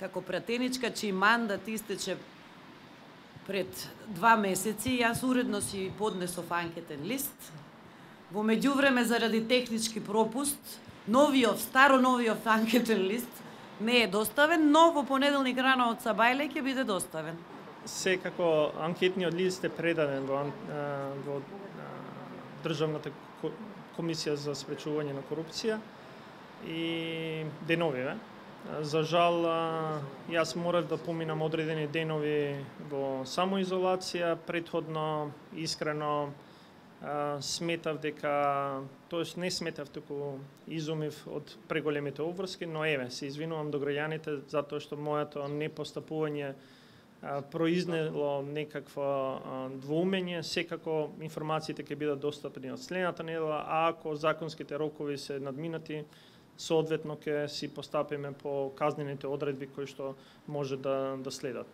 како пратеничка, чиј мандат истече пред 2 месеци, јас уредно си поднесов анкетен лист. Во меѓувреме, заради технички пропуст, старо-новиот анкетен лист не е доставен, но во понеделник рано од Сабајле ќе биде доставен. Секако анкетниот лист е предаден во Државната комисија за спречување на корупција и деновиве. За жал, јас морав да поминам одредени денови во самоизолација, претходно искрено сметав дека, тоест не сметав, туку изумив од преголемите обврски, но еве, се извинувам до граѓаните затоа што моето непостапување произнело некакво двоумење. Секако информациите ќе бидат достапни од следната недела, а ако законските рокови се надминати, соодветно ќе си постапиме по казнените одредби кои што може да следат.